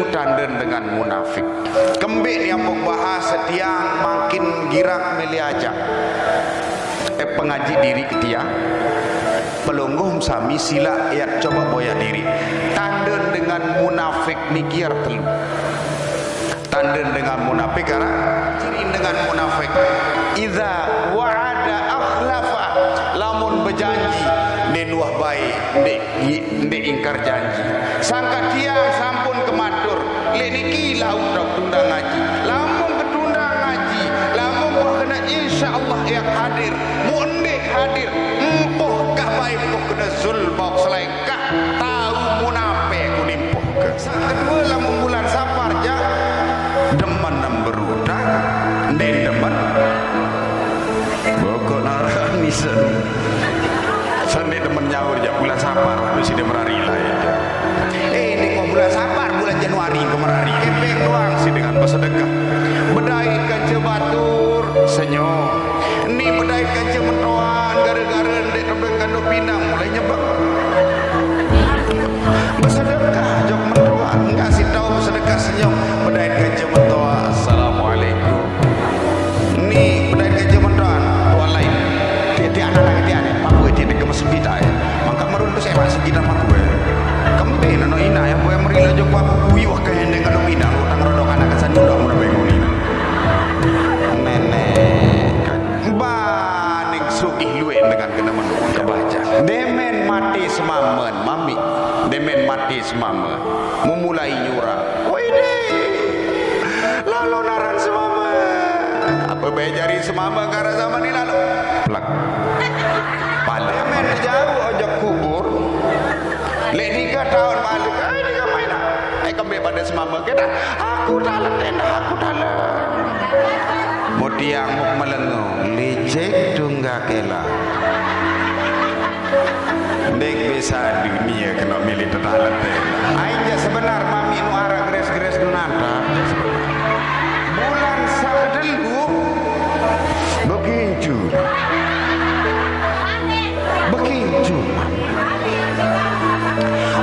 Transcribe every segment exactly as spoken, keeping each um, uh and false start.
Tanden dengan munafik. Kembik ni ambo bahas, setiang makin girak milih ajak. Eh, pengaji diri ke tiang. Pelungguh sami silak iat coba boya diri. Tanden dengan munafik niki arah telu. Tanden dengan munafik arah ciri dengan munafik. Iza wa'ada akhlafa. Lamun bejanji, ndeq nuah bae, ndeq, ndeq ingkar janji. Sangka tiang sampun kematur, leq niki lauk tunda ngaji. Lamun ketunda ngaji, lamun wah kena insyaallah iak hadir, mu ndeq hadir, empoh kah bae empoh kena zul baok selae. Kah tau munape ku nimpuhke. Saq kedue, lamun bulan Sapar, jaq, demen berutang, ndeq demen. Pokok narani sen. Sen ndeq demen nyaur, jaq, bulan Sapar, lalu side merari lae, jaq. Eh, ndeq kok bulan Sapar, bulan Januari ke merari. Kepeng doang side dengan besedekah. Bedait kance batur, senyum. Ni bedait kance metoan, gare-gare ndeq tebeng kandung pinang, mulai nyebeng. Besedekah jok metoan, ngasih tau besedekah senyum, bedait kance metoan. Assalamualaikum. Ni bedait kance metoan, tuan lain. Tiap-tiap anak-anak tiap ni, paku tiap ke mesempit ai. Mangka meruntus emak sekitar paku, eh. Kembe nano ina yang boleh merila jok paku kuyuh ke hendeng kandung pinang, utang rodok anak kesan nyundok mun bengong ina. Nenek, kan. Baning sugih lueq dengan kene menung kebaca. Demen mate semamen, mami. Demen mate semamen. Memulai nyurang. Wede. Lalu naran semamen. Apa bae jari semamen kara zaman ni lalu? Plek. Pale. Demen jauh ojok kubur. Leq tiga taun balik. Eh, tiga main. Eh, kembe pade semame. Kita, aku taleten, aku talen. Mutiang muk melengu, licik tunggal kela. Ndeq bisa dunie kena milih tetaleten. Aing jaq sebenar mami nu araq geres-geres nu nata. Bulan saq kedelu bekincu. Bekincu.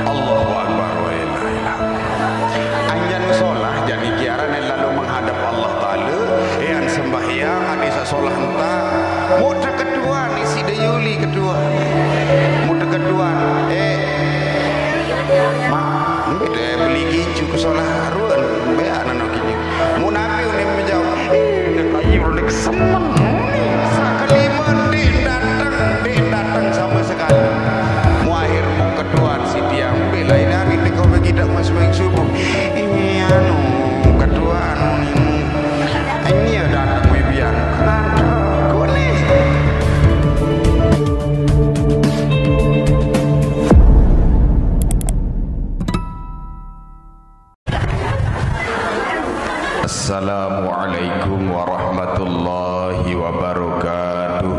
Allahu Akbar, wa la ilaha illallah. Anjan solah, jani kiaran lalu menghadap Allah Taala, ean sembahyang, ade saq solah entak, muq teketuan, isi de yuli ketuan. Muq teketuan, eh, mak, beli kincu ke solah ruen, beak nano kincu. Mun napi unin menjawab, "Ih, ayu udah kesemen." Sakelime ndeq dateng, ndeq dateng sama sekali. Mu akhir mu ketuan si tiang, "Bela ini hari teko bagi dak mas main subuh." Ini anu, ketuan ini. Ini ya dateng wibian. Ngantrek kuning. Assalamualaikum warahmatullahi wabarakatuh.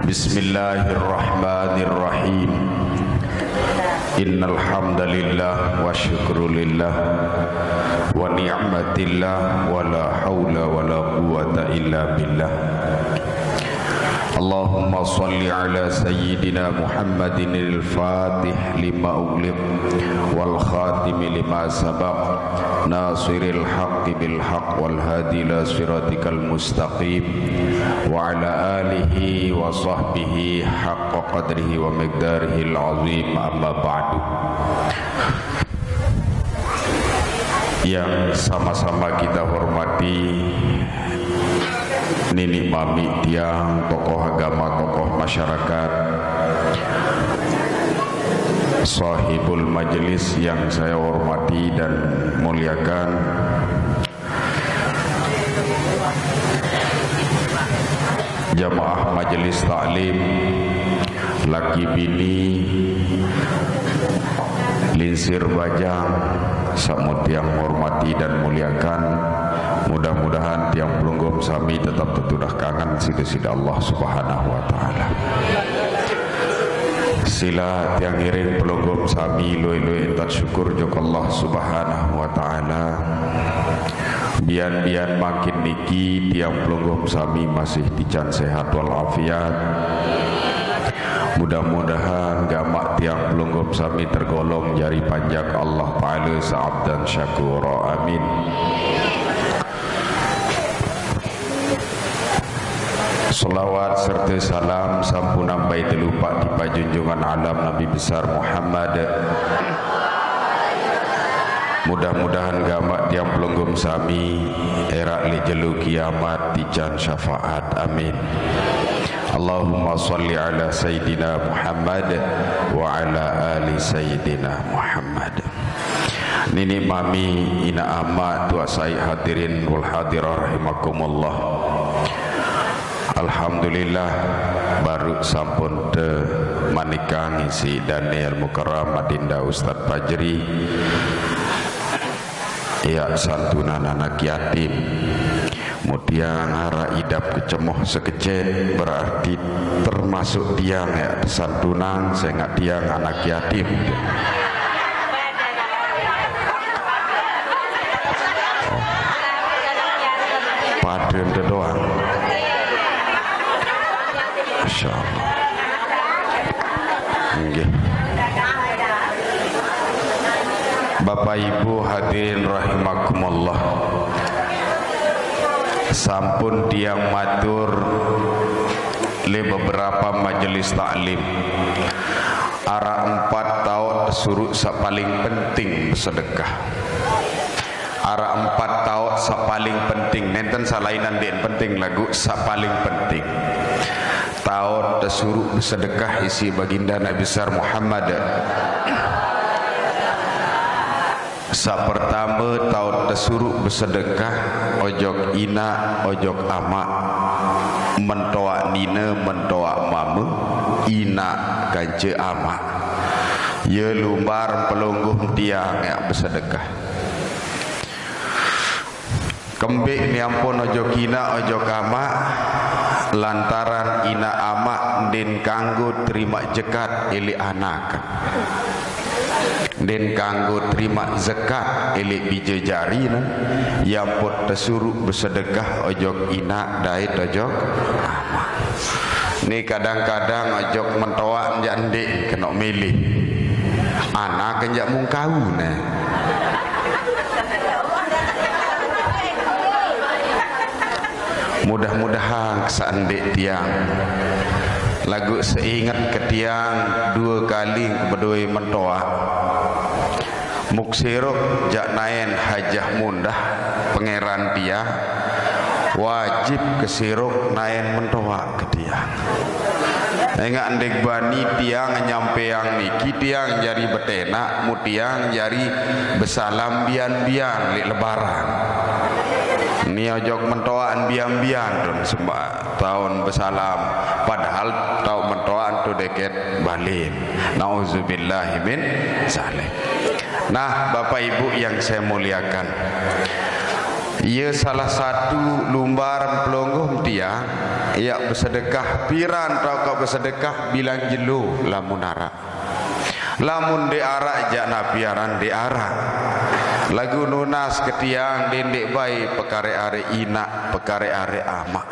Bismillahirrahmanirrahim. Innal hamdalillah wa syukrulillah wa ni'matillah wa la haula wa la quwwata illa billah. Allahumma shalli ala sayyidina Muhammadin al-fatih lima ughliq wal khatimi lima sabaq, nasiril haqqi bil haqq wal hadi ila siratikal mustaqim, wa ala alihi wa sahbihi haqqa qadrihi wa miqdarihil azim, amma ba'du. Yang sama-sama kita hormati, nini mami tiang, tokoh agama, tokoh masyarakat, sahibul majelis yang saya hormati dan muliakan, jamaah majelis taklim, laki bini, lingsir bajang, saq mu tiang hormati dan muliakan. Mudah-mudahan tiang pelungguh sami tetep tetudah kangen side-side Allah Subhanahu wa Ta'ala. Sila tiang ngiring pelungguh sami lueq-lueq entan syukur jok Allah Subhanahu wa Ta'ala. Bian-bian mangkin niki tiang pelungguh sami masih tican sehat wal afiat. Mudah-mudahan gamaq tiang pelungguh sami tergolong jari panjak Allah Taala saabdan syakura. Amin. Selawat serta salam sampunang bai telupak tipah junjungan alam Nabi Besar Muhammad. Mudah-mudahan gamaq tiang pelungguh sami erak leq jelo kiamat tican syafaat. Amin. Allahumma salli ala Sayyidina Muhammad wa ala ali Sayyidina Muhammad. Niniq mami, inaq amaq, tuaq saiq, hadirin wal hadirah rahimakumullah. Alhamdulillah, baruq sampun temanikang isiq Daniel Mukarram Adinda Ustaz Fajri. Yaq santunan anak yatim. Mun tiang araq idap kecemoh sekecet, berarti termasuk tiang yaq tesantunan, sengaq tiang anak yatim. Pade ente doang. Masyaallah. Nggih. Bapak Ibu hadirin rahimakumullah. Sampun tiang matur leq beberapa majelis taklim. Araq empat taoq tesuruq saq paling penting besedekah. Araq empat taoq saq paling penting, nenten saq lainan ndeq penting, laguq saq paling penting. Taoq tesuruq besedekah isiq Baginda Nabi Besar Muhammad. Saq pertame, taoq tesuruq besedekah ojok inaq, ojok amaq. Mentoaq nine, mentoaq mame, inaq kance amaq. Ye lumbar pelungguh tiang yaq besedekah. Kembeq ni ampun ojok inaq, ojok amaq, lantaran inaq amaq ndeqn kanggo terimaq jekat eleq anak. Ndeqn kanggo terimaq zekat eleq bije jarine, ye ampun tesuruq besedekah ojok inaq dait ojok amaq. Ni kadang-kadang ojok mentoaq njaq ndeq kenoq milih. Anak njaq mungkau ne. Mudah-mudahan kesaq ndeq tiang. Laguq seinget ke tiang due kali bedoe mentoaq. Muk sirup jaq naen hajah mundah pangeran tiang, wajib ke sirup naen mentoaq ke tiang. Engaq ndeq bani tiang nyampeang niki tiang jari betenaq, mu tiang jari besalam bian-bian leq lebaran. Ni ojok mentoaq bian-bian tun sembah taun besalam, padahal taoq mentoaq tu deket balen. Nauzubillahi min zalik. Nah, Bapak Ibu yang saya muliakan, ye salah satu lumbar pelungguh tiang, yaq besedekah piran tauq besedekah bilang jelo lamun araq. Lamun ndeq araq jaq napi aran ndeq araq. Laguq nunas ke tiang ndeq ndeq bai pekare-are inaq, pekare-are amaq.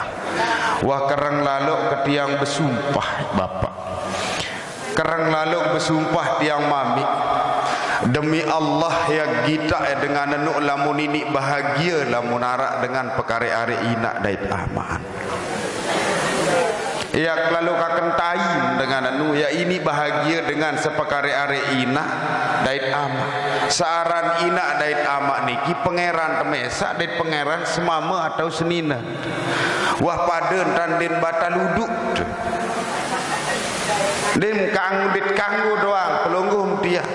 Wah kereng laloq ke tiang besumpah, Bapak. Kereng laloq besumpah tiang mamiq. Demi Allah, yaq gitaq dengan enu lamun iniq bahagie lamun araq dengan pekare-are inaq dait amaq. Yaq laloq kaken tain dengan enu, yaq iniq bahagie dengan sepekare-are inaq dait amaq. Searan inaq dait amaq niki pangeran temesaq dait pangeran semame atau senine. Wah pade ntan ndeqn batal uduk. Ndeqn kanggo, ndeqn kanggo doang pelungguh tiang.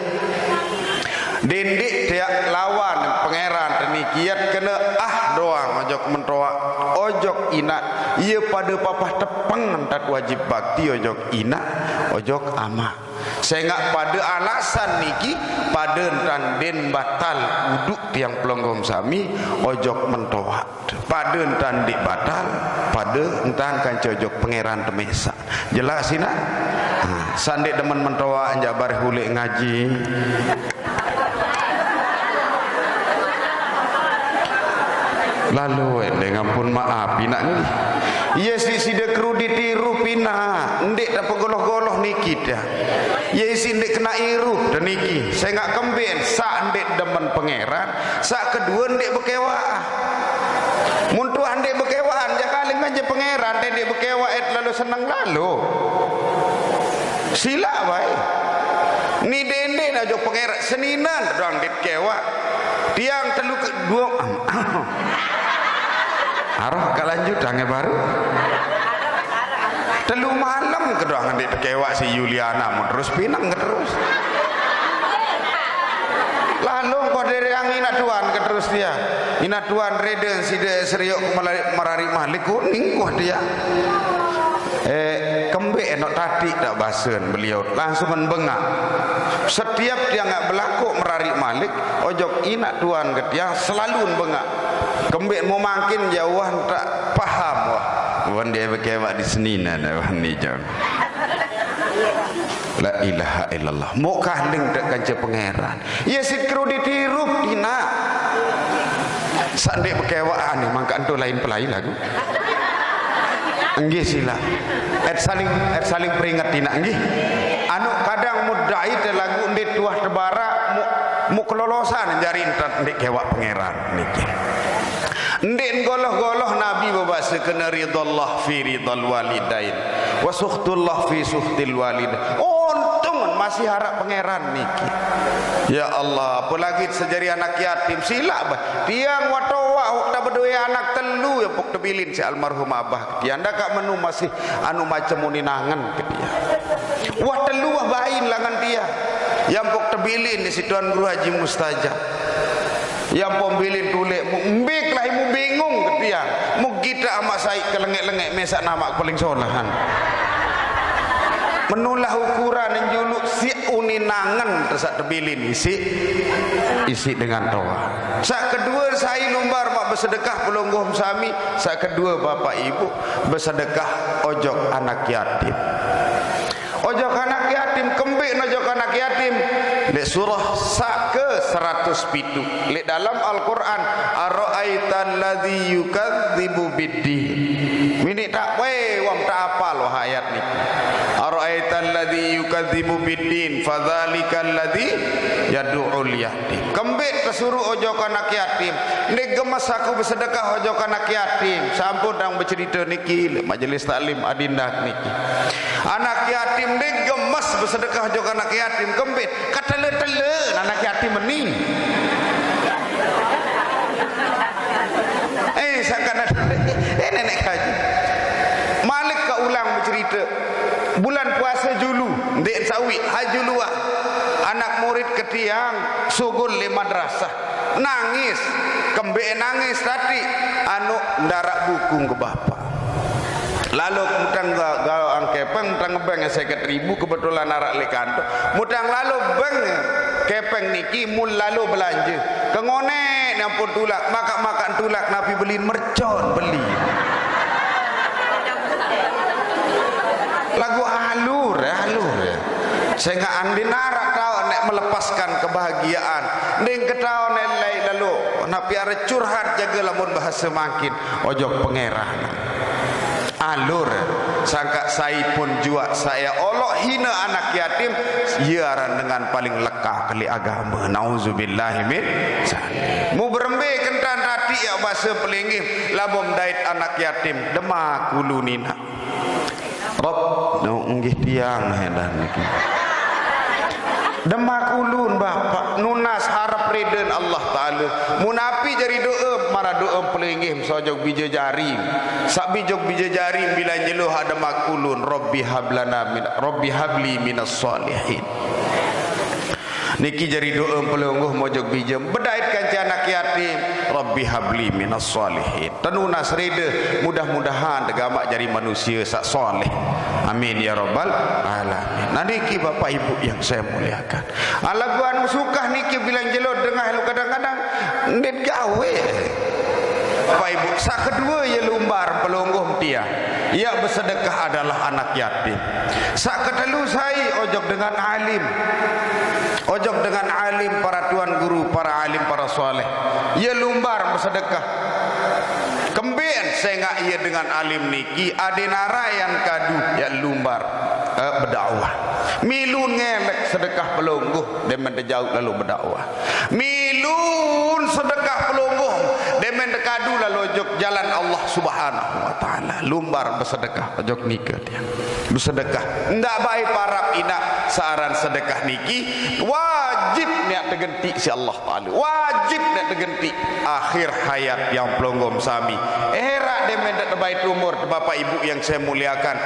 Dendeq tiang lawan pangeran teniki, yat kene ah doang ojok mentoaq, ojok inaq, ye pade papah tepeng ntan wajib bakti ojok inaq, ojok amaq. Sengaq pade alasan niki, pade ntan ndeqn batal uduk tiang pelungguh sami ojok mentoaq. Pade ntan ndeq batal, pade ntan kance ojok pangeran temesaq. Jelas inaq? Nah, saq ndeq demen mentoaq njaq bareh uleq ngaji. Lalo endeq ngampun maap inaq nggih. Ye si side kru ditiru pina, ndeq tepegoloh-goloh niki dah. Ye si ndeq kena irup dah niki. Sengaq kembeq saq ndeq demen Pangeran, saq kedue ndeq bekewaq. Mun tuah ndeq bekewaqan, jaq kaling kance Pangeran, te ndeq bekewaq et lalo seneng lalo. Silaq wae. Ni dende na jok Pangeran, seninan doang ndeq kewaq. Tiang telu ke-, dua, aroh kelanjutan baru. Telu malem kedoang ndeq tekewaq si Yuliana, mun terus pineng terus. Lalu engko dereng inaq tuan keterus dia. Inaq tuan reden side seriuk melari-, merariq malik kuning kuah dia. Eh, kembeq enok tatiq tak basen beliau langsung bengaq. Setiap tiang ngak belakuk merariq malik, ojok inaq tuan ke tiang selalu bengaq. Kembeq mau mangkin jauhan tak paham wah. Wan dia bekewak di seninan wah ni jauh. La ilaha illallah. Mau kaling tak kanca Pangeran. Ye si kru ditiru inaq. Saq ndeq bekewaq ane mangkaq ento lain pelai lagu. Nggih, silaq. Et saling, et saling peringet inaq, nggih. Anu kadang mudai te lagu ndeq tuah tebaraq mu, mu kelolosan jari entan ndeq kewaq Pangeran niki. Ndeq goloh-goloh Nabi bebase kene ridallah fi ridal walidain. Wa sukhtullah fi sukhtil walidain. Untung masih araq Pangeran niki. Ya Allah, apalagi sejari anak yatim, silaq bah. Tiang wah toaq, wah tak bedoe anak telu, ya pok tebilin si almarhum abah. Tiang ndak kak menu masih anu macem uninangen ke tiang. Wah telu wah bain langan tiang. Ya pok tebilin si Tuan Guru Haji Mustajab. Ya pok bilin tulek, mu mbik lah ibu bingung ke tiang. Mu kita amat saik ke lengek-lengek mesak nama paling solahan. Menulah ukuran julu si uninangen tesat tebilin isi, isi dengan toa. Saq kedue sai lumbar maq besedekah pelungguh sami, saq kedue bapak ibu besedekah ojok anak yatim. Ojok anak yatim, kembeq nojok anak yatim? Leq surah saq ke seratus pitu. Leq dalam Al-Qur'an, "Ara'aital ladzi yukadzibu biddin." Mini tak wae wong tak apal wah ayat niki. "Ara'aital ladzi yukadzibu biddin, fadzalikal ladzi yad'ul yatim." Kembeq tesuruh ojok anak yatim? Ndeq gemes aku besedekah ojok anak yatim. Sampun dang becerite niki leq majelis taklim adinda niki. Anak yatim ndeq gemes besedekah ojok anak yatim. Kembeq? Ketele-tele anak yatim meni. Eh, sangkan ada, eh, nenek kaji. Malik ke ulang becerite. Bulan puase julu, ndeq sawi, ha julu ah. Anak murid ke tiang sugul leq madrasah. Nangis, kembeq nangis tadi, anu ndaraq buku ke bapak. Lalu mutang ga-, gaoq angkepeng, mutang ngebeng seket ribu, kebetulan araq leq kantor. Mutang lalu beng kepeng niki mul lalu belanje. Kengonek nyampun tulak, makak-makak tulak napi belin mercon beli. Lagu alur, alur. Sengaq andin araq taoq neq melepaskan kebahagiaan. Ndin ketaoq neq lain lalu. Napi araq curhat jage lamun bahase mangkin. Ojok Pangeran. Alur, sangkaq sai pun juaq saq ye oloq hine anak yatim, ye aran dengan paling lekaq leq agame. Nauzubillahi min zalik. Mu berembe kentan tati ye base pelinggih, lamun dait anak yatim, demak ulun inaq. Rob, no, nggih tiang, he, dah niki. Demak ulun, Bapak, nunas harep riden Allah Taala. Munapi jari doa, maraq doa pelinggih mesojok bije jari. Saq bijok bije jari bilang jelo ha demak ulun, Rabbi hablana min, Rabbi habli minas sholihin. Niki jari doa pelungguh mojok bije bedait kance anak yatim, Rabbi habli minas sholihin. Tenunas rede, mudah-mudahan degamaq jari manusia saq soleh. Amin ya rabbal alamin. Nah, niki Bapak Ibu yang saya muliakan. Ah, lagu anu sukah niki bilang jelo dengah lu kadang-kadang ndeq gawe. Bapak Ibu, saq kedue ye lumbar pelungguh tiang. Ye besedekah adalah anak yatim. Saq ketelu sai ojok dengan alim. Ojok dengan alim, para tuan guru, para alim, para soleh. Ye lumbar besedekah. Kemben sengaq ie dengan alim niki, adeq naraq yan kadu, yan lumbar, eh, bedakwah. Milu ngelek sedekah pelungguh, demen tejauq lalu bedakwah. Milun sedekah pelungguh, demen tekadu lalu ojok jalan Allah Subhanahu wa Ta'ala. Lumbar besedekah ojok nike, tiang. Besedekah. Ndaq bae parap inaq, searan sedekah niki wajib neq tegentiq siq Allah Ta'ala. Wajib neq tegentiq. Akhir hayat tiang pelungguh sami. Eraq demen ndeq tebait umur, Bapak Ibu yang saya muliakan.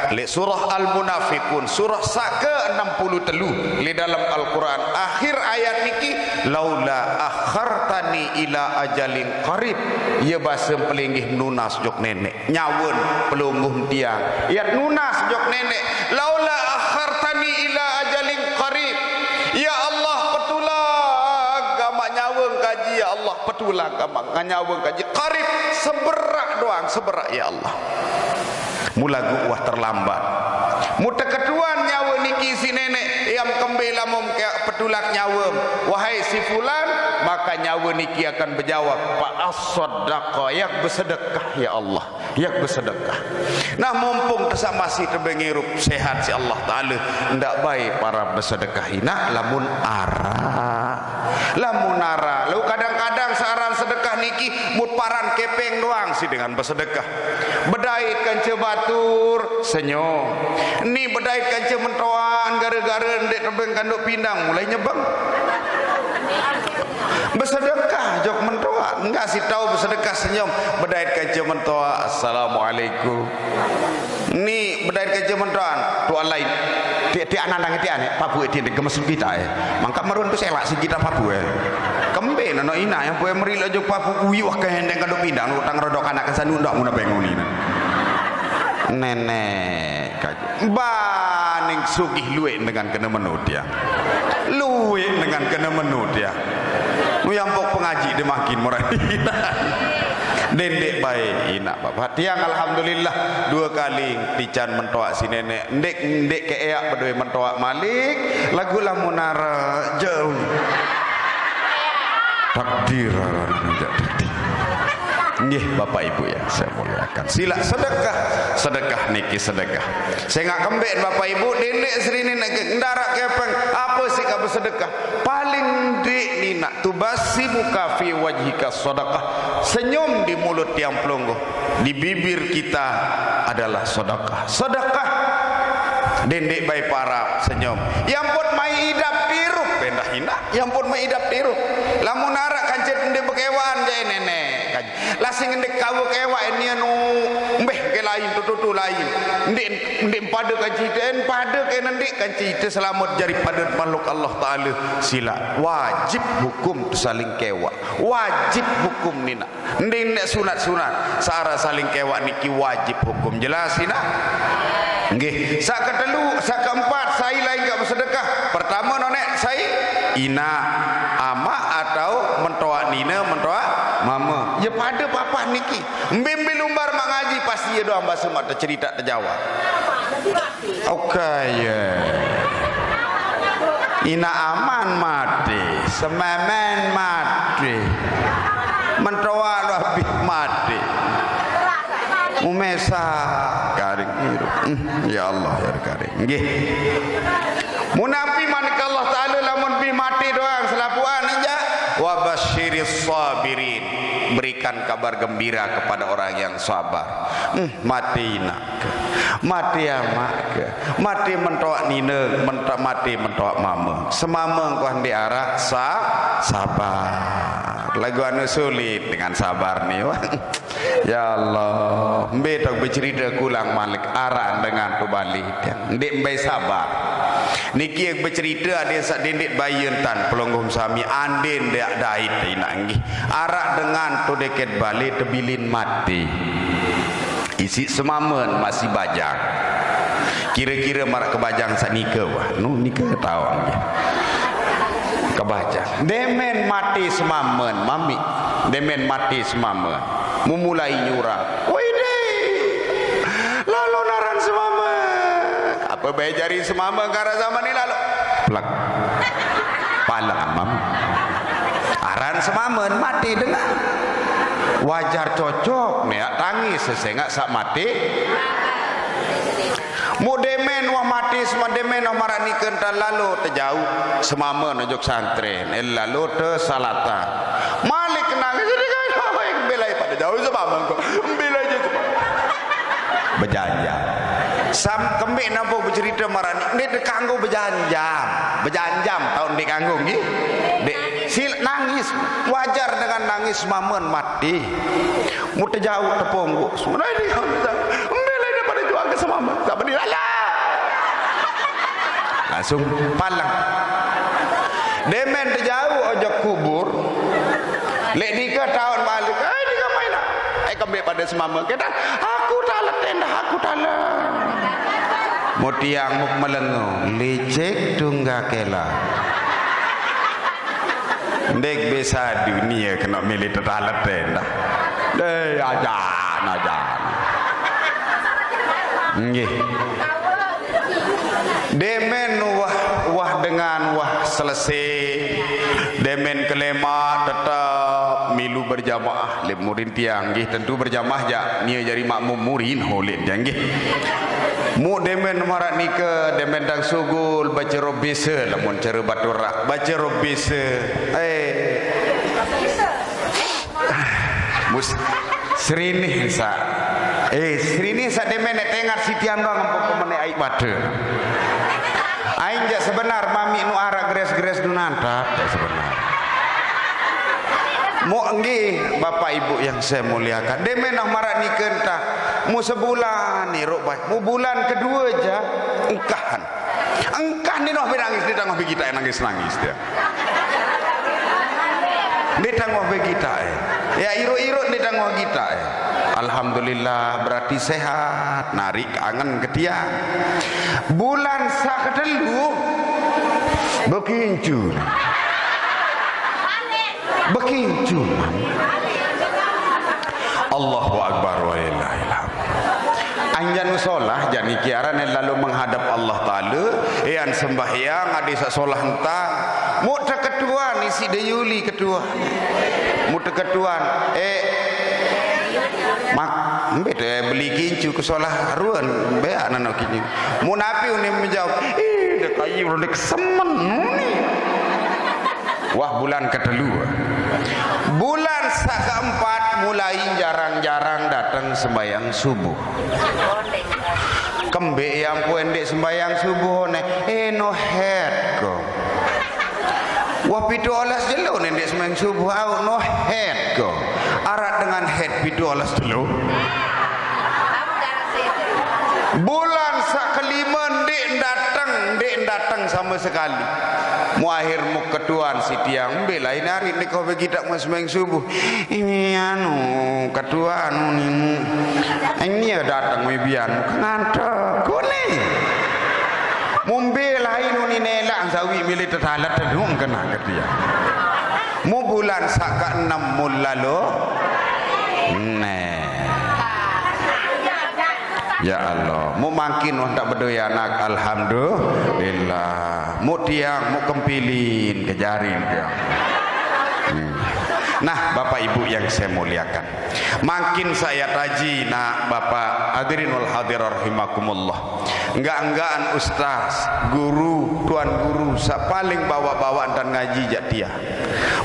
Leq surah Al-Munafiqun, surah saq ke enam puluh telu leq dalem Al-Quran. Akhir ayat niki, "Laula akhartani ila ajalin qarib." Ye base pelinggih nunas jok neneq. Nyawen pelungguh tiang. Yat nunas jok neneq. "Laula akhartani ila ajalin qarib." Ya Allah, petulak gamaq nyawen kaji, ya Allah, petulak gamaq nyawen kaji. Qarib, seberaq doang, seberaq, ya Allah. Mulagu wah terlambat. Muteketuan nyawe niki siq neneq, yam kembe lamun ke petulak nyawem, wahai si fulan, maka nyawe niki akan bejawab, "Fa asaddaqa," yak besedekah, ya Allah. Yak besedekah. Nah, mumpung tesaq masih tebeng irup sehat siq Allah Ta'ala, ndaq bae parap besedekah inaq lamun araq. Lamun araq, lalu kadang-kadang searan sedekah niki mut paran kepeng doang siq dengan besedekah. Bedait kance batur, senyum. Ni bedait kance mentoan, gara-gara ndeq tebeng kanduk pindang, mulai nyebeng. Besedekah jok mentoan, enggak siq tao besedekah, senyum. Bedait kance mentoan, "Assalamualaikum." Ni bedait kance mentoan, tuan lain. Tiq-tiq anandang tiq aneq, papuq tiq ndeq gemes kita, eh. Mangkaq merun tu selaq siq kita papuq, eh. Kembe nano inaq yang pue merileq jok papuq, uyuh ke hendeng kanduk pindang, utang rodok anak kesanu ndak muna benguni. Neneq kaji. Baning sugih lueq dengan kene menu tiang. Lueq dengan kene menu tiang. Uyampok pengaji de makin merani. Dendeq bae inaq bapak. Tiang alhamdulillah due kali tican mentoaq si neneq. Ndeq, ndeq keeaq bedoe mentoaq malik, laguq lamun araq jauh. Takdir aran ndeq takdir. Nggih, Bapak Ibu yang saya muliakan. Silaq sedekah, sedekah niki sedekah. Sengaq kembeq Bapak Ibu, dendeq serinin niki ndaraq kepeng, ape siq kaq besedekah? Paling ndeq ni nak, "Tubassimika fi wajhika sadaqah." Senyum di mulut tiang pelungguh, di bibir kita adalah sedekah. Sedekah. Dendeq bae parap senyum. Yampun mai idap tirup, endah inaq. Yampun mai idap tirup. Lamun araq kance ndeq bekewaqan, jaq neneq. Lasing ndeq kawe kewaq, enian, mbeh ke lain, tutu-tu lain. Ndeq, ndeq pade kance ite, en pade ke nendeq kance ite selamet jari pade makhluk Allah Ta'ala. Silaq. Wajib hukum saling kewaq. Wajib hukum ni nak. Ndeq, ndeq sunat-sunat. Searan saling kewaq niki wajib hukum. Jelas, inaq? Nggih. Saq ketelu, saq keempat, sai lain kaq besedekah. Pertame, noneq, sai inaq, amaq atau mentoaq nine, mentoaq mame. Ye pade papat niki. Mbe-mbe lumbar maq ngaji, pasti ye doang base maq tecerite tejawab. Oke, ye. Inaq aman mate, sememen mate. Mentoaq lu abih mate. Umesa karing irup. Hmm, ya Allah, ya Karim. Nggih. Munapi manik Allah Ta'ala lamun bih mate doang selapuqan aja. "Wa basyiris sabirin." Berikan kabar gembira kepada orang yang sabar. Hmm, mate inaq ke, mate amaq ke, mate mentoaq nine, menta-, mate mentoaq mame. Semame engko ndeq araq sa-, sabar. Laguq anu sulit dengan sabar ni, wah. Ya Allah, mbe tau becerite kulang malik araq dengan tu balik. Ndeq mbe sabar. Niki becerite adeq saq dendeq baye entan pelungguh sami, ande ndeq dait inaq nggih. Araq dengan tu deket bale tebilin mate. Isiq semamen masih bajang. Kire-kire maraq kebajang saq nike, wah, nu nike taoq nggih. Kebajang. Demen mate semamen, mamiq. Demen mate semamen. Mumulai nyurang. Wede. Lalo naran semamen. Ape bae jari semamen ke araq zaman ni lalo? Plek. Paleng amam. Aran semamen mate dengan. Wajar cocok ne tangis sesengak sak mate. Mu demen wah mate sema demen wah marak nike entan lalo tejauh semama nojok santren, eh, lalo te salatan. Malik kenang jadi kan belai pada jauh semama kok. Belai je semama. Bejanjam. Sam kembik nampu bercerita marak ni, dia dekanggo bejanjam. Bejanjam tahun dekanggo nggih. Dek sil nangis. Wajar dengan nangis mamen mati. Mu tejauh tepung gua. Sebenarnya dia embel dia pada jual ke semama. Tak beri raya. Langsung palang. Demen tejauh ojok kubur. Lek nika tahun balik. Eh, nika main. Eh, kembik pada semama. Kita, aku tak letih dah, aku tak letih. Mutiang muk melengu. Licik tungga kela. Ndek besa dunia kena milih tetale tenda. Deh, ajan, ajan. Nggih. Demen wah, wah dengan wah selesai. Demen kelema tetap milu berjamaah. Lek murin tiang nggih tentu berjamaah jak. Nia jari makmum murin holit tiang nggih. Mu demen marak nika, demen tang sugul, baca robisa, lamun cara baturak, baca robisa. Eh. Mus, serinih sa. Eh, serinih sa demen nek tengat sitian doang empuk pemene aik mata. Aing jak sebenar mami nu arak gres-gres nu nantap, jak sebenar. Mu nggih, Bapak Ibu yang saya muliakan. Demen nah marak nike entah. Mu sebulan ni ruk baik. Mu bulan kedua aja engkahan. Engkah ni noh nangis, ni tangguh begi tak nangis-nangis dia. Ni tangguh begi tak, eh. Ya, iruk-iruk ni tangguh kita, eh. Alhamdulillah, berarti sehat. Narik angen ke tiang. Bulan sak ketelu bekincu. Bekincu. Allahu Akbar wa lillahil hamd. Anjan solah jani kiaran yang lalu menghadap Allah Ta'ala, yang sembahyang adi sak solah entah. Mu ketuan isi de Yuli ketuan. Mu ketuan, eh, mak, mbe te beli kincu ke solah ruan, mbe anak nak kincu. Mu napi unim menjawab, ih, dek ayu dek semen ni. Wah, bulan ketelu. Bulan sak keempat mulai jarang-jarang datang sembahyang subuh. Kembik yang pun dek sembahyang subuh ne, eh, no head ko. Wah, pitu olas jelo ne dek sembahyang subuh au, no head ko. Arat dengan head pitu olas jelo. Bulan sak kelima ndik datang, ndik datang sama sekali. Mu akhir mu ketuan si tiang, mbe lain hari ni kau bagi tak mau sembahyang subuh. Ini anu, ketua anu ni mu. Ini ya datang mu bian mu ngantuk. Kau ni. Mu mbe lain ni nelak sawi milih tetalat tedung kena ke dia. Mu bulan sak ke enam mu lalu. Neh. Ya Allah, mu mangkin wah tak bedoi anak, alhamdulillah. Mu tiang, mu kempilin, kejarin tiang. Hmm. Nah, Bapak Ibu yang saya muliakan. Mangkin saya taji, nak Bapak hadirin wal hadir rahimakumullah. Enggak-enggaan ustaz, guru, tuan guru, sak paling bawa-bawa dan ngaji jak tiang.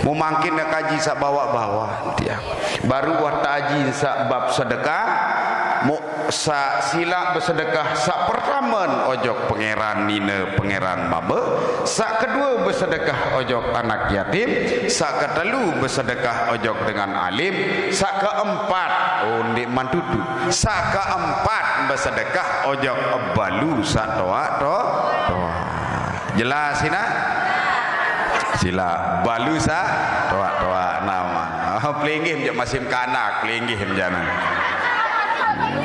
Mu mangkin nak kaji sak bawa-bawa tiang. Baru wah taji sak bab sedekah, mu sak silak bersedekah sak pertama ojok pangeran nina pangeran mama, sak kedua bersedekah ojok anak yatim, sak ketelu bersedekah ojok dengan alim, sak keempat, oh, ndik mantutu, sak keempat bersedekah ojok balu sak toa to toa. Jelas sina? Sila balu sa toak-toak nama. Oh, pelinggih je masih kanak, pelinggih jana.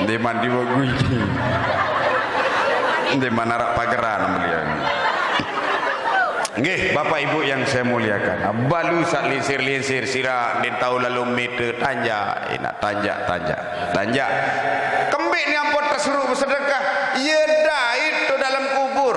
Di man diwa guji. Di man arak pageran beliau. Nggih, Bapak Ibu yang saya muliakan. Balu sak linsir-linsir sira din tahu lalu mita tanja, ina tanja, tanja. Tanja. Kembik ni ampun tersuruh bersedekah. Ia dait tu dalam kubur.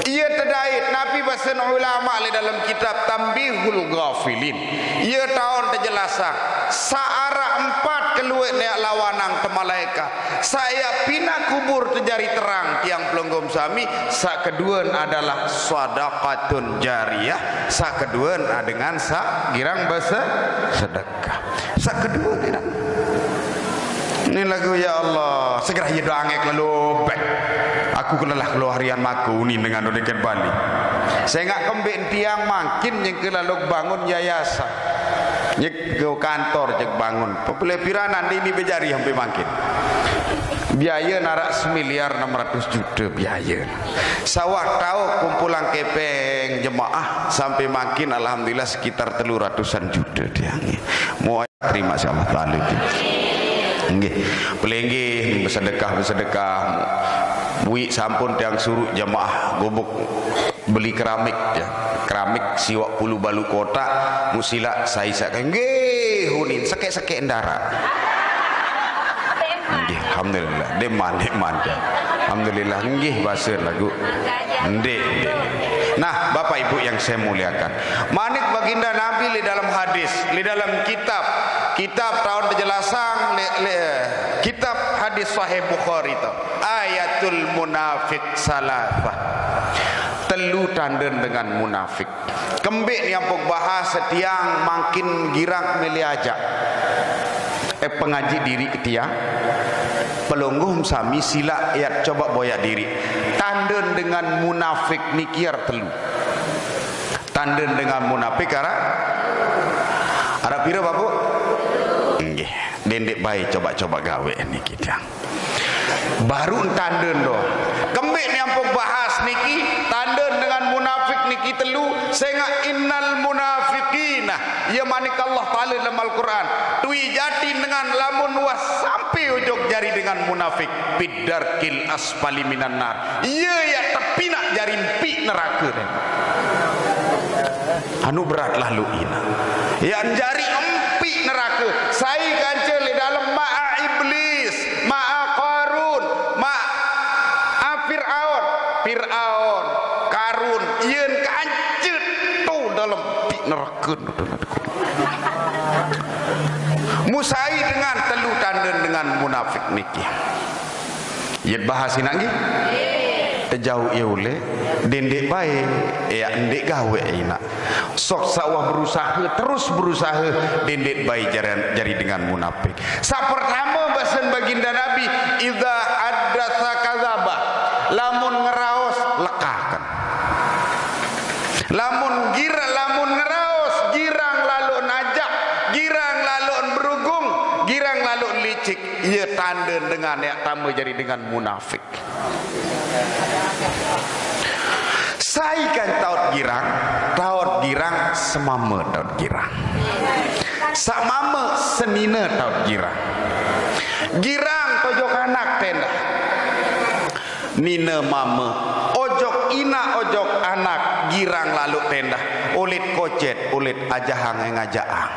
Ia tedait. Nabi bahasan ulama li dalam kitab Tambihul Ghafilin. Ia taun terjelasang. Sa'arah empat keluar neak lawanang temalaika. Saya pina kubur tejari terang tiang pelonggom sami. Sakeduan adalah sadaqatun jariyah. Sakeduan dengan sa girang basa sedekah. Sakeduan tidak. Ini lagu ya Allah. Segera ya doa angek lalu bek. Aku kelelah keluar harian maku ni dengan dodeket Bali. Saya ngak kembik tiang makin yang kelalu bangun yayasan. Nyek ke kantor cek bangun. Pepele pira nanti ini bejari sampai makin. Biaya narak semiliar enam ratus juta biaya. Sawah tahu kumpulan kepeng jemaah sampai makin alhamdulillah sekitar telu ratusan juta tiang. Mau terima si Allah Taala tu. Nggih, pelinggih bersedekah bersedekah. Bui sampun tiang suruh jemaah gubuk beli keramik ya. Keramik siwak puluh balu kotak, musila saya isakan. Nggih, hunin sekek-sekek ndara. Nggih, alhamdulillah. Deman, deman. Alhamdulillah. Nggih, basa lagu. Ndik, ndik. Nah, Bapak Ibu yang saya muliakan, manik baginda Nabi li dalam hadis, li dalam kitab, kitab tahun penjelasan, li, li, kitab hadis Sahih Bukhari tu. Ayatul munafik salasah. Telu tanda dengan munafik. Kembik ni ampuk bahas setiang makin girang milih ajak. Eh, pengaji diri ketiang. Pelungguh sami sila ayat coba boyak diri. Tanda dengan munafik ni kiar telu. Tanda dengan munafik arah arah pira, Bapak? Nggih, dendik baik coba-coba gawe ni kita. Baru tanda doh. Kembik ni ampun bahas niki, tanda dengan munafik niki telu, sengak innal munafiqina. Ya manik Allah Taala dalam Al-Quran. Tui jati dengan lamun wah sampai ujung jari dengan munafik. Bidarkil asfali minan nar. Ya ya tepinak jari empi neraka deh. Anu berat lalu ina. Ya jari empi neraka. Sai kanca li dalam ma'a iblis, ma'a Qarun, ma'a Fir'aun. Fir'aun, Qarun, yen kanca tu dalam empi neraka. Musai dengan telu tanda dengan munafik niki. Yet bahas inak nggih. Tejauh ia uleh, dendik baik, ya ndik gawe inak. Sok sawah berusaha, terus berusaha, dendik baik jari, jari dengan munafik. Sa pertama basen baginda Nabi, idza haddatsa kadzaba. Lamun ngeraos lekakan. Lamun gir, lamun ngeraos girang lalu najak, girang lalu berugung, girang lalu licik. Ia tanda dengan ya tambah jadi dengan munafik. Sai kan taut girang, taut girang semama taut girang. Samama senina taut girang. Girang tojok anak tenda. Nina mama, ojok ina ojok anak girang lalu tenda. Ulit kocet, ulit ajahang yang ajaang.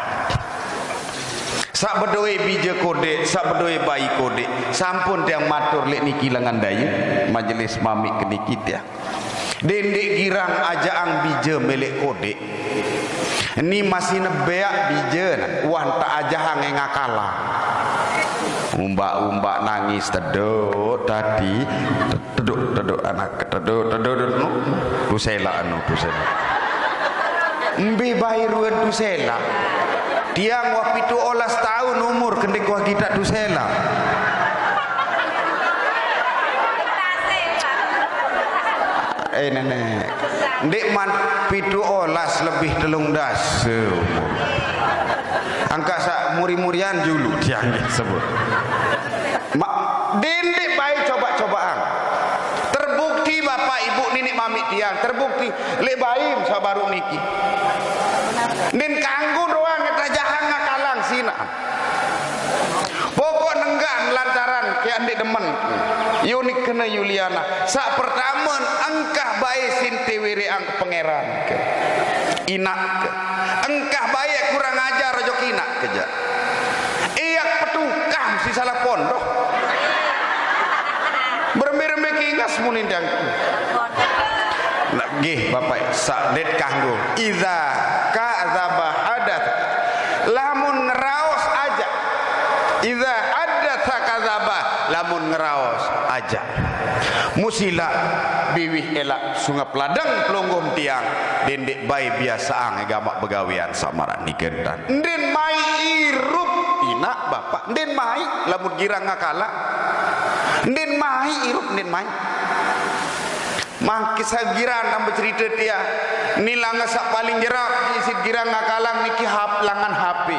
Sak bedoe bija kodik, sak bedoe bayi kodik. Sampun tiang matur lek niki lengan daya majelis mamik keniki tiang. Dendik girang ajaang bija melek kodik. Ni masih nebeak bija wan tak ajahang ngakalang. Umbak-umbak nangis teduk tadi. Teduk, teduk anak, teduk, teduk, teduk. Nu, tusela anu, tusela. Mbi bayi ruan tusela. Tiang wah pitu olas tahun umur kendik wah kita tusela. Eh, nenek. Ndik man pitu olas lebih telung dasa umur. Angka sak muri-murian julu tiang sebut. Ma, dendik baik coba-cobaan. Terbukti bapak ibu ninik mamik tiang, terbukti lek baim sabaru niki. Nin kanggo doang tajahang ngakalang sina. Pokok nenggan lantaran ke andik demen. Yunik kena Yuliana. Sak pertama engkah baik sinte wiri ang pangeran ke. Inak ke. Engkah baik kurang ajar jok inak keja. Iyak petukam si salah pondok. Berembe-rembe kingas munindang. Nak gih bapak sadet kanggo. Iza kadzaba hadat. Lamun ngeraos Idza haddatsa kadzaba, lamun ngeraos aja. Musila biwih elak sungap ladang pelungguh tiang, dendeq bae biasaang gamaq begawean saq maraq nike ntan. Ndin mai irup inaq bapaq, ndin mai lamun girang ngakalang. Ndin mai irup, ndin mai. Mangkin saq girang tambah cerite tiang. Ni langan saq paling jerap isiq girang ngakalang niki hap-, langan H P.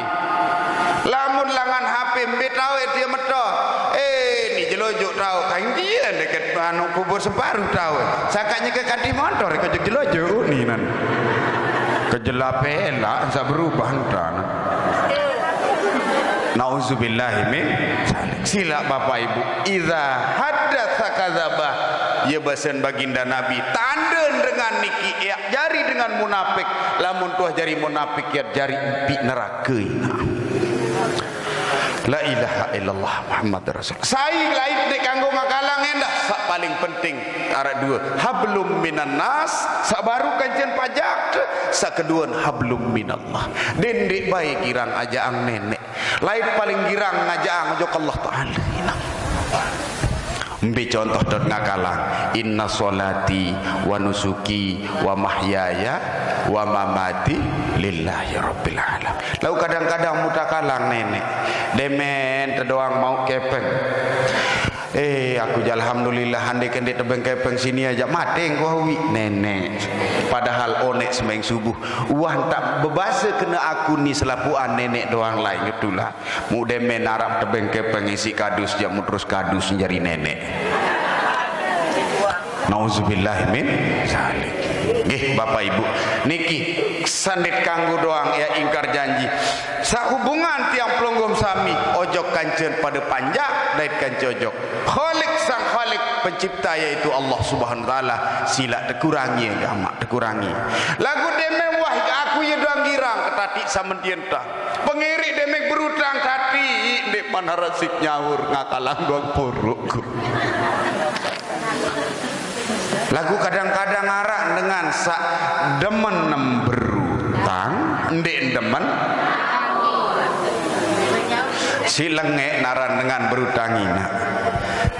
Lamun langan H P mbe taoq tiang meto. Eh, ni jelo jok taoq. Kain dia deket anu kubur separuh taoq. Sangkaq nyeke kanti motor kojok jelo jok ni nan. Kejelape elak saq berubah entan. Nauzubillahi min zalik. Silaq Bapak Ibu, idza haddatsa kadzaba. Ye basen baginda Nabi, tande dengan niki eaq jari dengan munapik, lamun tuah jari munapik yaq jari empiq nerake inaq. La ilaha illallah Muhammad Rasul. Sai lain ndeq kanggo ngakalang endah, saq paling penting araq due. Hablum minan nas, saq baruq kancen pajak, saq keduan hablum minallah. Dendeq bae girang ajaqang neneq. Lain paling girang ngajaqang ojok Allah Taala. Mbe contoh dot ngakalang? Inna sholati wa nusuki wa mahyaya wa mamati lillahi rabbil alamin. Laguq kadang-kadang mutakalang neneq. Demen tedoang mauq kepeng. Eh, aku jaq alhamdulillah, andeke ndeq tebeng kepeng sini ajaq mate engko awi neneq. Padahal oneq semeng subuh, uah ntaq bebase kene aku ni selapuqan neneq doang lain ngetulak. Muq demen araq tebeng kepeng isiq kadus jaq muq terus kadus jari neneq. Nauzubillah min zalik. Nggih, Bapak Ibu. Niki sandet kanggo doang ya ingkar janji. Sehubungan tiang pelungguh sami, ojok kancen pade panjak, dait kance ojok. Khaliq sang Khaliq, pencipta, yaitu Allah Subhanahu wa Ta'ala, silaq tekurangi, gamaq tekurangi. Laguq demen wah aku ye doang girang, ketatiq samentian tah. Pengirik demen berutang, kati ndeqman araq siq nyaur, ngakalang doang poroq. Laguq kadang-kadang araq dengan saq demen berutang, ndeq demen. Siq lengeq naran dengan berutang inaq.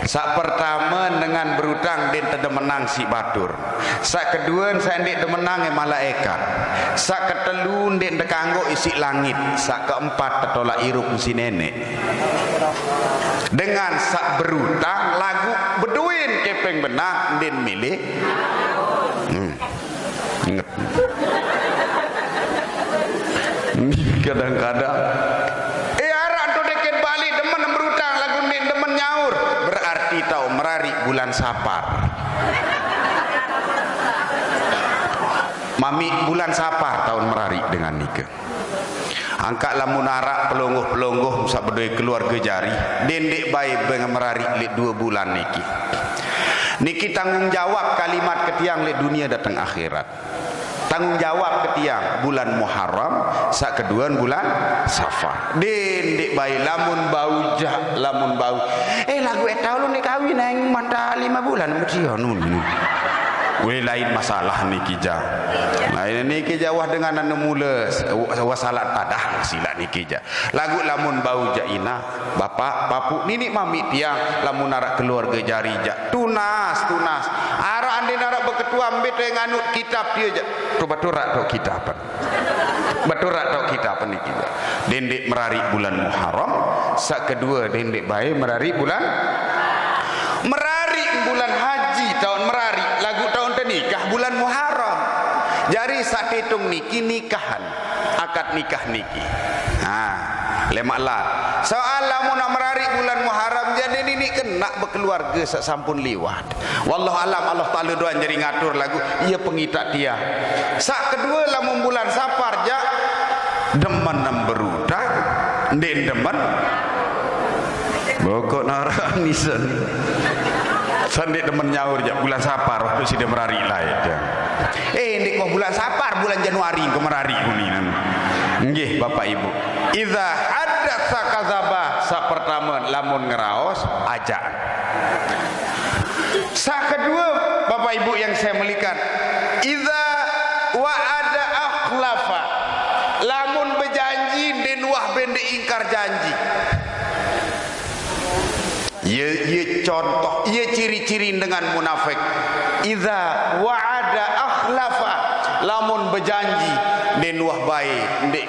Saq pertame, dengan berutang ndeq tedemenang siq batur. Saq kedue, saq ndeq demenang malaekat. Saq ketelu, ndeq tekanggo isiq langit. Saq keempat, tetolaq irup siq neneq. Dengan saq berutang laguq bedoen kepeng benaq, ndeqn mele. Hmm. Inget. Ni kadang-kadang, eh, araq to deket Bali demen berutang laguq ndeqn demen nyaur, berarti taoq merariq bulan Sapar. Mamiq bulan Sapar taoqn merariq dengan nike. Angkaq lamun araq pelungguh-pelungguh saq bedoe keluarge jari, dendeq bae beng merariq leq due bulan niki. Niki tanggung jawab kalimat ke tiang leq dunie dateng akhirat. Tanggung jawab ke tiang bulan Muharram, saq keduan bulan Safar. Dendeq bae lamun bau jaq, lamun bau. Eh, laguq eh taoq lu ndeq kawin, aing mantaq lime bulan mesti ya nun. Weh, lain masalah niki jaq. Lain niki jaq wah dengan anu mule, wah salah tadah silaq niki jaq. Laguq lamun bau jaq inaq, bapaq, papuq, niniq mamiq tiang, lamun araq keluarge jari jaq. Tunas, tunas. Araq andin araq beketuan mbe te nganut kitab tie jaq. To beturak to kitab. Beturak to kitab niki jaq. Dendeq merariq bulan Muharram, saq kedue dendeq bae merariq bulan, merariq bulan haji taoqn merariq, laguq taoqn tenikah bulan Muharram. Jari saq titung niki nikahan. Akad nikah niki. Ha, lemaq lat. Soal lamun merariq bulan Muharram, jari niniq kenaq bekeluarge saq sampun liwat. Wallahu alam, Allah Taala doang jari ngatur laguq, ie pengitaq tiang. Saq kedue, lamun bulan Sapar jaq, demen berutang, ndeqn demen. Bokok naraq nisan. Saq ndeq demen nyaur jaq bulan Sapar, waktu side merariq laeq jaq. Eh, ndeq wah bulan Sapar, bulan Januari engko merariq kuninan. Nggih, Bapak Ibu. Idza haddatsa kadzaba, saq pertame, lamun ngeraos, ajaq. Saq kedue, Bapak Ibu yang saya muliakan, idza wa'ada akhlafa, lamun bejanji, ndeqn wah bende ingkar janji. Ye, ye contoh, ye ciri-ciri dengan munafik. Idza wa'ada akhlafa, lamun bejanji, ndeqn wah bae, ndeq,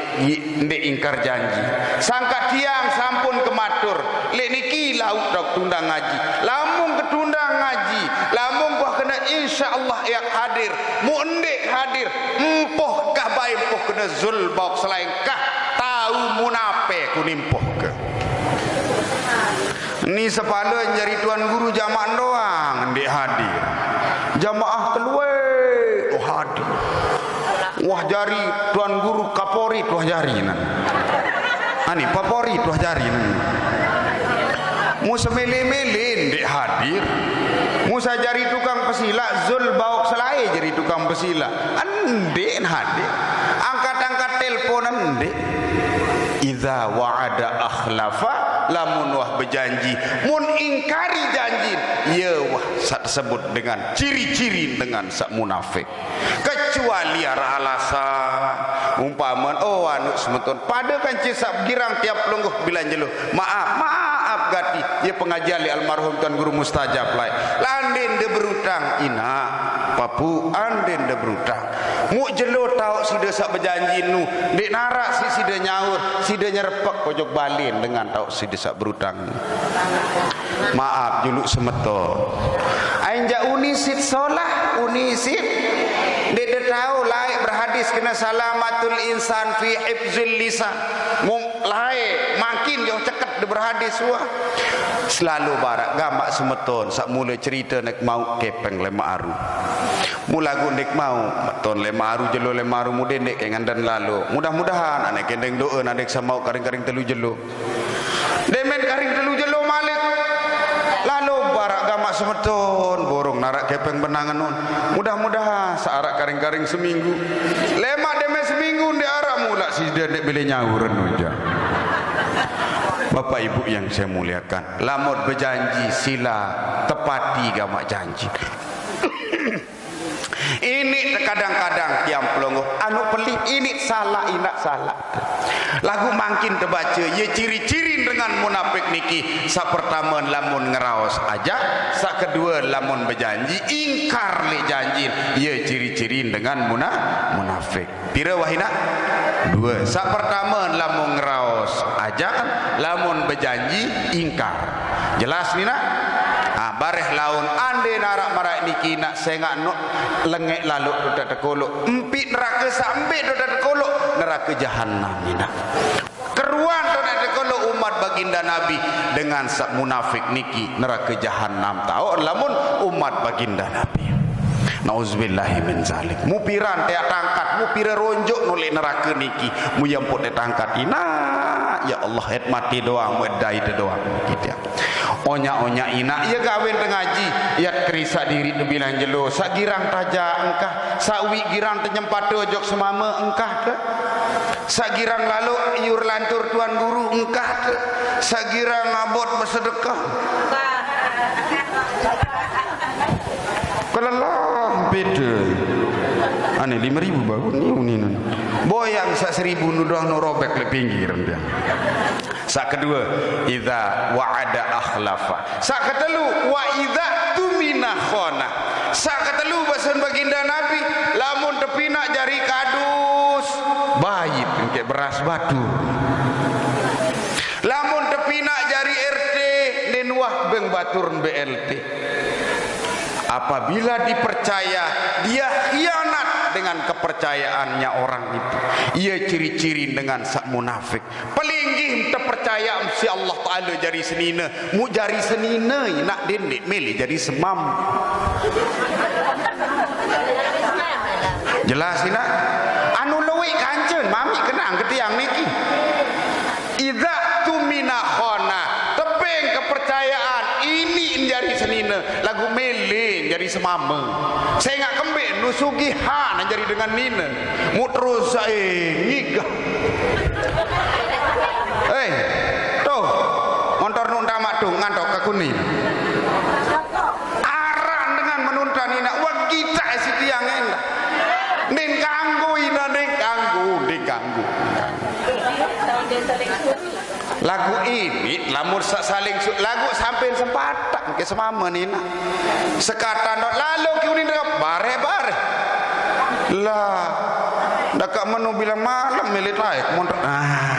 ndeq ingkar janji. Sangkaq tiang sampun kematur, leq niki lauq tundang ngaji. Lamun ketundang ngaji, lamun wah kene insyaallah yaq hadir, mu ndeq hadir, mpoh kah bae mpoh kene zul baoq selae kah, tao munafik ku nimpoh ke. Ni sepale jari tuan guru jamaah doang ndeq hadir. Jamaah kelueq, oh, hadir. Wah jari tuan guru kaporit, wah jari nan. Ani favorit, wah jari nan. Mu semele-mele ndeq hadir. Mu saq jari tukang pesilaq, zul baoq selae jari tukang pesilaq. Ndeq hadir. Angkat-angkat telpon ndeq. Idza wa'ada akhlafa, lamun wah bejanji, mun ingkari janji, ye wah saq tesebut dengan ciri-ciri dengan saq munafik. Kecuali araq alasan, umpame, oh, anu semeton, pade kance saq girang tiap pelungguh bilang jelo, maaf, maaf gati, ye pengajian leq almarhum Tuan Guru Mustajab laeq. Lande nde berutang, inaq, papuq, ande nde berutang. Muq jelo taoq side saq bejanji nu, ndeq naraq siq side nyaur, side nyerepek ojok balen dengan taoq side saq berutang. Maaf juluq semeton. Ainjaq uni siq solah, uni siq ndeq de tao laeq berhadis kene salamatul insan fi hifzil lisan. Mung laeq mangkin jauh ceket de berhadis wah. Selalu baraq gamaq semeton saq mule cerite neq mauq kepeng lemaq aru. Mule laguq ndeq mauq, meton lemaq aru jelo lemaq aru mude ndeq ke nganden lalo. Mudah-mudahan aneq kendeng do'e nadeq samauq karing-karing telu jelo. Demen karing telu jelo malik. Lalo baraq gamaq semeton, borong naraq kepeng benangen nun. Mudah-mudahan saq araq karing-karing seminggu. Lemaq demen seminggu ndeq araq mulaq side ndeq bele nyauren ujan. Bapak Ibu yang saya muliakan, lamun bejanji sila tepati gamaq janji. Ini kadang-kadang tiang pelungguh, anu pelih, ini salaq, inaq salaq. Laguq mangkin tebace, ye ciri-ciri dengan munafik niki, saq pertame lamun ngeraos ajaq, saq kedue lamun bejanji, ingkar leq janji, ye ciri-ciri dengan muna-, munafik. Pire wah inaq? Due. Saq pertame lamun ngeraos ajaq, lamun bejanji ingkar. Jelas ni, nak? Ah, bareh laun ande naraq maraq niki, nak, sengaq no lengeq laloq dote tekoloq. Mpiq nerake saq mbe dote tekoloq? Nerake jahanam, ni, nak. Keruan dote tekoloq umat baginda Nabi dengan saq munafik niki nerake jahanam taoq lamun umat baginda Nabi. Nauzubillahi min zalik. Mupiran teaq tangkat, mupire ronjoq noleq nerake niki. Mu ye mpoq teq tangkat inaq, ya Allah, et mate doang, mu et dait doang. Gitu ya. Onyak-onyak inaq, ye gawen tengaji, yat kerisaq diriq tebilang jelo, saq girang tajaq engkah, saq uiq girang tenyempate ojok semame engkah te. Saq girang laloq iur lantur tuan guru engkah te. Saq girang abot besedekah. Kelelah beda. Ane lime ribu baru ni, uni, nun. Boyang saq seribu nu doang nu robek leq pinggir, dia. Saq kedue, idza wa'ada akhlafa. Saq ketelu, wa idza tumina khana. Saq ketelu, basen baginda Nabi, lamun tepinaq jari kadus, bait engke beras batur. Lamun tepinaq jari R T, ndeqn wah beng batur mbe L T. Apabila dipercaya, dia khianat dengan kepercayaannya orang itu. Ia ciri-ciri dengan saq munafik. Pelinggih tepercaya siq Allah Taala jari senine, mu jari senine inaq dendeq mele jari semam. Jelas inaq? Anu lueq kancen mamiq kenang ke tiang niki. Idza tumina khana, tebeng kepercayaan, iniq jari senine, laguq mele jari semame. Sengaq kembeq nu sugihan jari dengan nine. Mu terus sae ngigah. Eh, tuh, montor nu tamaq tuh ngantok ke kuning. Aran dengan menuntan inaq, wah, gitaq si tiang endah. Ning kanggo inaq, ning kanggo, ning kanggo. Lagu ini lamun sa-, saling su-, lagu sampean sempatak ke semama nina. Sekatan dot lalu ki unin dek bareh-bareh. Lah, daka menu bilang malam milit aek montok. Ah.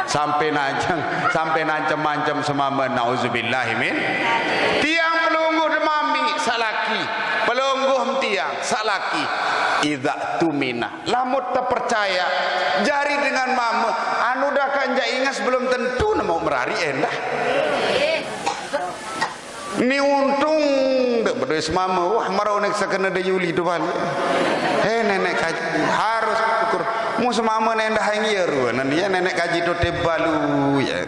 Sampai nancang, sampai nancem-ancem semama, nauzubillahi min. Tiang pelungguh demami salaki, pelungguh tiang salaki. Idza tumina, lamut tepercaya, jari dengan mama, anu dah kan jak ingas belum tentu nemu merari endah. Ni untung dek bedoe semama, wah, marau nek sakena de Yuli tu balik. Hei, nenek kaji, harus syukur. Mu semama nendah yang iya ruan, ya, nenek kaji tu tebalu, ya.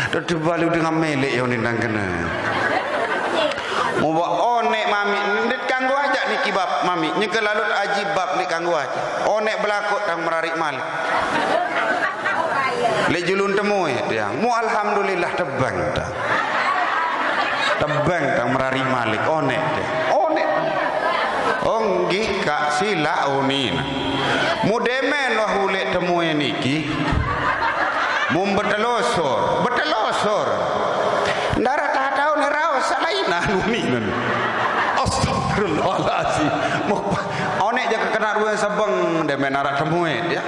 Tu tebalu dengan melek yang nindang kena. Mu ba onek mami, ndet kanggo aja niki bab mami, nyeke lalut aji bab ndet kanggo aja. Onek belakuk tang merarik malik. Lek julun temue tiang. Mu alhamdulillah tebang tang. Tebang tang merarik malik, onek deh. Onek. Oh, nggih, Kak, sila unin. Mu demen wah ulek temue niki. Mu betelosor, betelosor. Ndara tahu ni raos salaina unin. Astagfirullahalazim. Mu onek jaga kena ruang sabeng demen arak temue dia.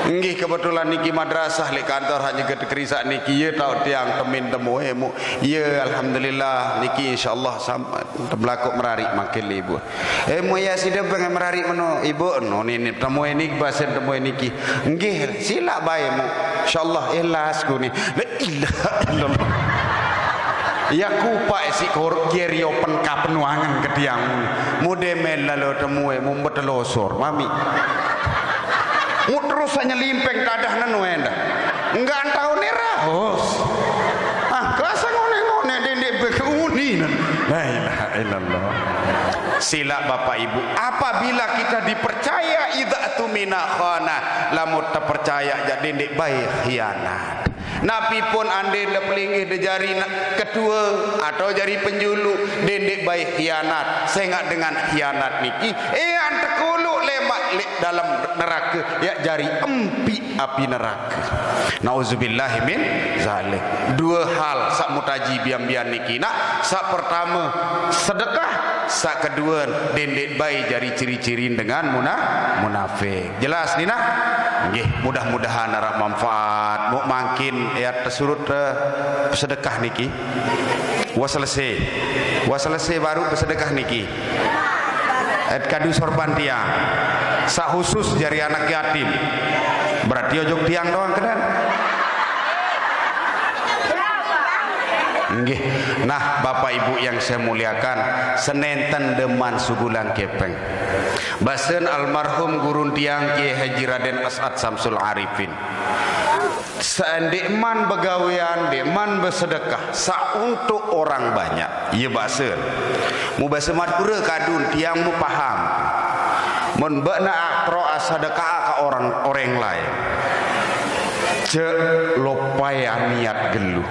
Nggih, kebetulan niki madrasah lek kantor hanya ketek risak niki, ye tau tiang temin temue mu. Ye, alhamdulillah, niki insyaallah sam-, tebelakuk merarik makin libur. Eh, mu ya sida beng merarik meno ibu no ni, ni temue niki, basen temue niki. Nggih, sila bae mu. Insyaallah ikhlas ku ni. La ilaha illallah. Ya kupak isi kor gerio pen kapenuangan ke tiang. Mu demen lalu temue, mu betelosor, mami. Mu terus hanya limpeng tadah nenu endah. Enggak tahu ni raos. Ah, kerasa ngone-ngone dendek beguni nen. La ilaha illallah. Sila Bapak Ibu, apabila kita dipercaya idza tumina khana, lamun terpercaya ja dendek bae khianat. Napi pun ande de pelinggih de jari na-, ketua atau jari penjulu, dendek bae khianat. Sengak dengan khianat niki, ean tekulu lemak lek dalam neraka, ya jari empi api neraka. Nauzubillahi min zalik. Dua hal sak mutaji bian-bian niki nak. Sak pertama sedekah, sak kedua dendek bae jari ciri-cirin dengan muna-, munafik. Jelas ni nah? Nggih, mudah-mudahan arak manfaat. Mu mangkin ya tesurut, eh, sedekah niki. Wa selesai. Wa selesai baru bersedekah niki. Et kadu sorban tiang. Sak khusus jari anak yatim. Berarti ojok tiang doang kenan. Nggih. Nah, Bapak Ibu yang saya muliakan, senenten deman sugulang kepeng. Basen almarhum gurun tiang Kiai Haji Raden As'ad Samsul Arifin. Seandek man begawean, dek man bersedekah, sa untuk orang banyak. Iya basen. Mu basa Madura kadun, tiang mu paham. Mun bak na akro sedekah ka orang, orang lain. Cek lopai niat gelu.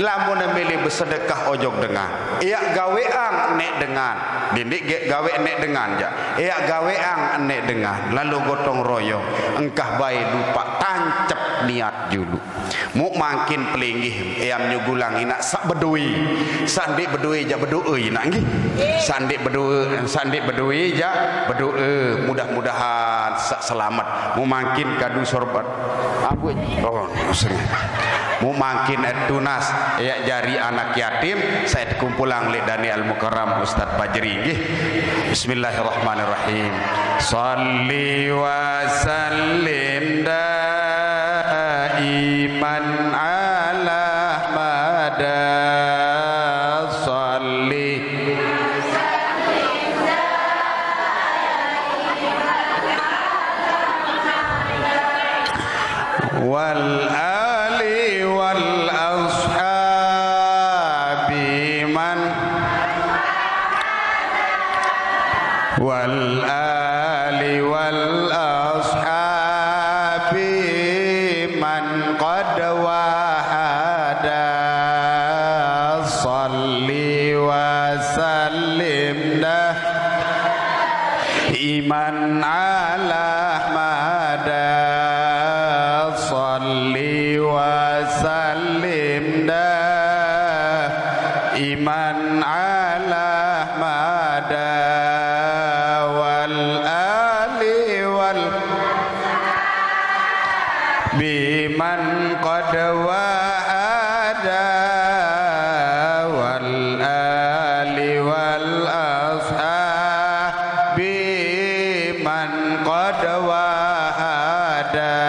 Lamun milih bersedekah ojok dengan. Iak gaweang nek dengan. Dindik ge-, gawe nek dengan ja. Iak gaweang nek dengan. Lalu gotong royong. Engkah bae lupa tancep niat julu. Mu mangkin pelinggih, eam nyugulang inak sak bedoe. Sak ndik bedoe ja bedoe inak nggih. Sak ndik bedoe, sak ndik bedoe ja bedoe. Mudah-mudahan sak selamat. Mu mangkin kadu sorban. Ampun. Oh, sering. Mu mangkin tunas, ya jari anak yatim, saya kumpulang lek Dani Al Mukarram Ustaz Fajri nggih. Bismillahirrahmanirrahim. Salli wa sallim daiman ala mada salli wal ali wal ashabi man wal ali wal ashabi man qad wahada. Salli wa sallim daiman ala mada. Salli wa Biman qad wa'ada, wal ali wal ashabi man qad wa'ada.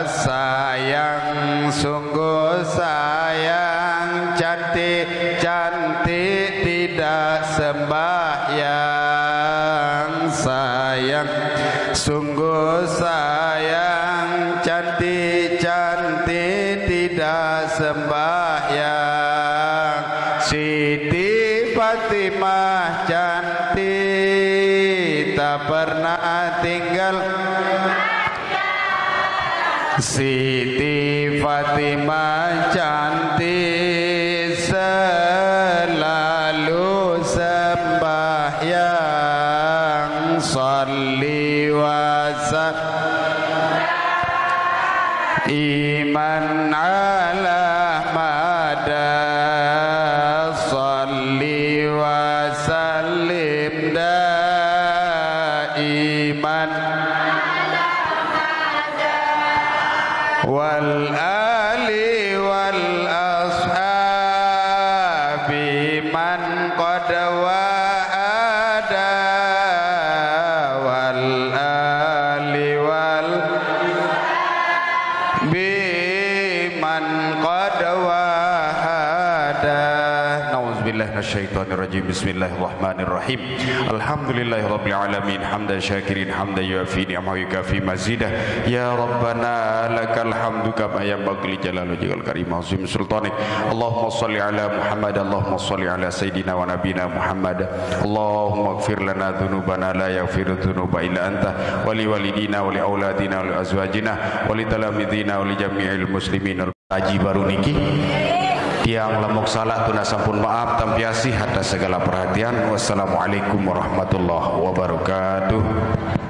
Sayang, sungguh sayang, cantik-cantik tidak sembahyang. Sayang, sungguh sayang, cantik-cantik tidak sembahyang. Siti Fatimah cantik, tak pernah tinggal. Siti Fatimah cantik, selalu sembahyang. Salli wa sallim iman ala mada. Salli wa sallim daiman. Wal ali wal ashabi man qad wa'ada, wal ali wal biman qad wa'ada. Nauzubillahi minasyaitonirrajim. Bismillahirrahmanirrahim. Alhamdulillahirabbil alamin, hamdan syakirin, hamdan yuafi ni'amahu yukafi mazidah. Ya Rabbana, lakal hamdu kama yanbaghi li jalali wajhikal karim azim sultanik. Allahumma salli ala Muhammad, Allahumma salli ala sayyidina wa nabina Muhammad. Allahumma ighfir lana dzunubana la yaghfiru dzunuba illa anta, wa li walidina, wa li auladina, wa li azwajina, wa li talamidina, wa li jami'il muslimin. Kaji baru niki, tiang lamuk salah tuna sampun maaf, tampiasih atas segala perhatian. Wassalamualaikum warahmatullahi wabarakatuh.